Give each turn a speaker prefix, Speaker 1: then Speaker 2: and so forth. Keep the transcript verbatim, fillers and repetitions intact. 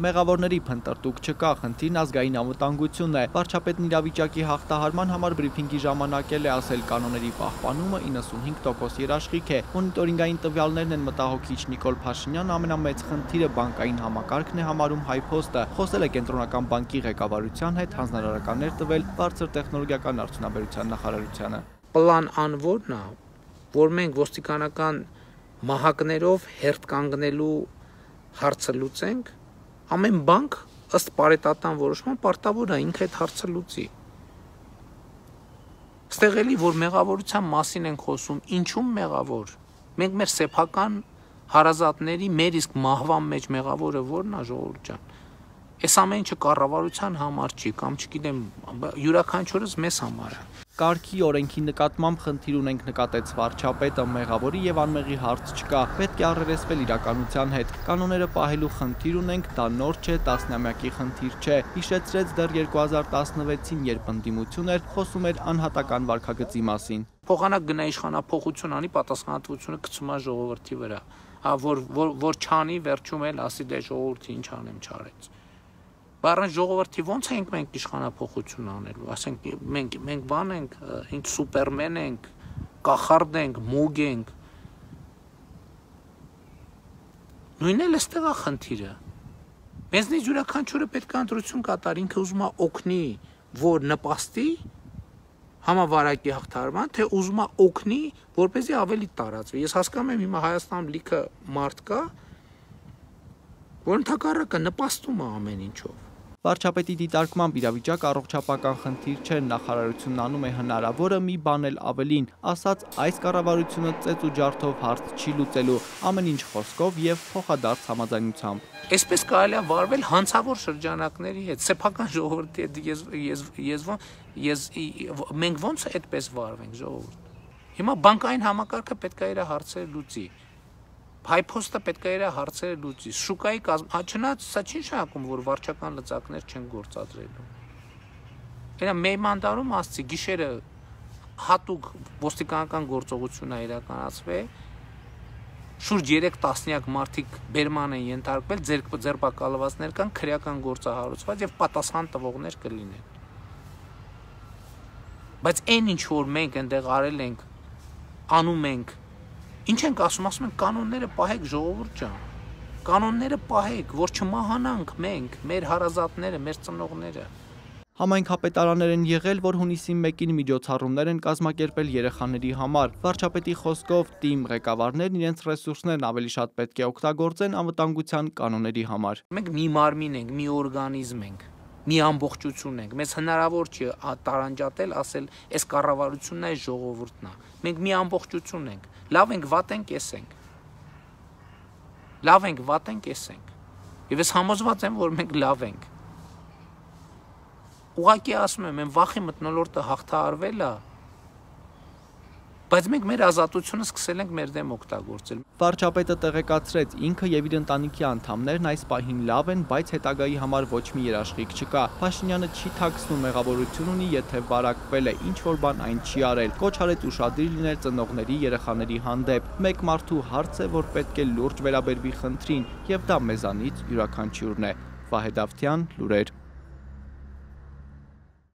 Speaker 1: Մեղավորների փնտրտուք չկա, խնդիրն ազգային անվտանգությունն է։ Վարչապետն իրավիճակի հաղթահարման համար բրիֆինգի ժամանակ էլ է ասել, կանոնների պահպանումը իննսունհինգ տոկոս երաշխիք է։ Մոնիտորինգային տվյալներն են մտահոգիչ։ Նիկոլ Փաշինյանը ամենամեծ խնդիրը բանկային համակարգն է համարում Հայփոստը։ Խոսել է Կենտրոնական բանկի ղեկավարության հետ, հանձնարարականներ տվել բարձր տեխնոլոգիական արդյունաբերության նախարարությանը։
Speaker 2: Պլան անվորն է, որ մենք ոստիկանական մահակներով հերթ կանգնելու հարցը լուծենք, ամեն բանկ ըստ պարետատան որոշման պարտավոր է ինքը այդ հարցը լուծի։ Ստեղ էլի որ մեղավորության մասին ենք խոսում, ինչու՞մ մեղավոր։ Մենք մեր սեփական հարազատների մեր իսկ մահվան մեջ մեղավորը ո՞րն է, ժողովուրդ ջան։ Այս ամեն ինչը կառավարության համար չի, կամ չգիտեմ, յուրաքանչյուրս մեզ համար է։
Speaker 1: Կարգի օրենքի նկատմամբ խնդիր ունենք, նկատեց վարչապետը, մեղավորի եւ անմեղի հարց չկա, պետք է առերեսվել իրականության հետ։ Կանոնները պահելու խնդիր ունենք, դա նոր չէ, տասնամյակի խնդիր չէ։ Հիշեցրեց դեռ երկու հազար տասնվեցին, երբ ընդդիմություն էր, խոսում էր անհատական վարքագծի մասին։
Speaker 2: Փոխանակ գնա իշխանափոխություն անի, պատասխանատվությունը գցում է ժողովրդի վրա։ Հա որ որ չանի, վերջում էլ ասի դե ժողովրդի ինչ անեմ չարեց։ Բառան ժողովրդի ո՞նց ենք մենք իշխանափոխություն անելու, ասենք մենք մենք բան ենք, ինչ սուպերմեն ենք, կախարդ ենք, մուգ ենք։ Նույնն էլ էստեղ է խնդիրը։ Մեզնից յուրաքանչյուրը պետք է ընտրություն կատարի, ինքը ուզում է օգնի, որ նպաստի համավարակի հաղթահարման, թե ուզում է օգնի, որպեսզի ավելի տարածվի։ Ես հասկանում եմ հիմա Հայաստանում լիքը մարդ կա, որ ընդհակառակը նպաստում է ամեն ինչով։
Speaker 1: Վարչապետի դիտարկմամբ իրավիճակ առողջապահական խնդիր չէ, նախարարությունն անում է հնարավորը, մի բան էլ ավելին, ասաց այս կառավարությունը ծեծ ու ջարդով հարց չի լուծելու, ամեն ինչ խոսքով եւ փոխադարձ համաձայնությամբ։
Speaker 2: Այսպես կարելի է վարվել հանցավոր շրջանակների հետ, սեփական ժողովրդի հետ, ես ես ես ես մենք ո՞նց այդպես վարվենք, ժողովուրդ։ Հիմա բանկային համակարգը պետք է իր հարցերը լուծի։ Հայփոստը պետք է իր հարցերը լուծի։ Շուկայի կազմ, չնայած սա չի նշանակում, որ վարչական լծակներ չեն գործադրելու։ Այլ մեյմանդարում ասցի գիշերը հատուկ ոստիկանական գործողություն է իրականացվել, շուրջ երեք տասնյակ մարդիկ բերման են ենթարկվել, ձերբակալվածներ կան, քրեական գործահարուցված եւ պատասխան տվողներ կլինեն։ Բայց այն ինչ որ մենք այնտեղ արել ենք, անում ենք, ինչ ենք ասում, ասում ենք կանոնները պահեք, ժողովուրդ ջան, կանոնները պահեք, որ չմահանանք մենք, մեր հարազատները, մեր ծնողները։
Speaker 1: Համայնքապետարաններ են եղել, որ հունիսի մեկին միջոցառումներ են կազմակերպել երեխաների համար։ Վարչապետի խոսքով թիմ ղեկավարներն իրենց ռեսուրսներն ավելի շատ պետք է օգտագործեն անվտանգության կանոնների համար։
Speaker 2: Մենք մի մարմին ենք, մի օրգանիզմ ենք, մի ամբողջություն ենք։ Մեզ հնարավոր չի տարանջատել, ասել, այս կառավարությունն է, այս ժողովուրդն է։ Մենք մի ամբողջություն ենք։ Լավ ենք, վատ ենք, էս ենք։ Լավ ենք, վատ ենք, էս ենք։ Եվ ես համոզված եմ, որ մենք լավ ենք։ Ուղղակի ասում եմ, այն վախի մթնոլորտը հաղթահարվել է, բայց մենք մեր ազատությունը սկսել ենք մեր դեմ օգտագործել։
Speaker 1: Վարչապետը տեղեկացրեց, ինքը եւ իր ընտանիքի անդամներն այս պահին լավ են, բայց հետագայի համար ոչ մի երաշխիք չկա։ Փաշինյանը չի թաքցնում, մեղավորություն ունի, եթե վարակվել է, ինչ որ բան այն չի արել։ Կոչ արեց ուշադիր լինել ծնողների, երեխաների հանդեպ։ Մեկ մարդու հարց է, որ պետք է լուրջ վերաբերվի խնդրին, եւ դա մեզանից յուրաքանչյուրն է։ Վահե Դավթյան, լուրեր։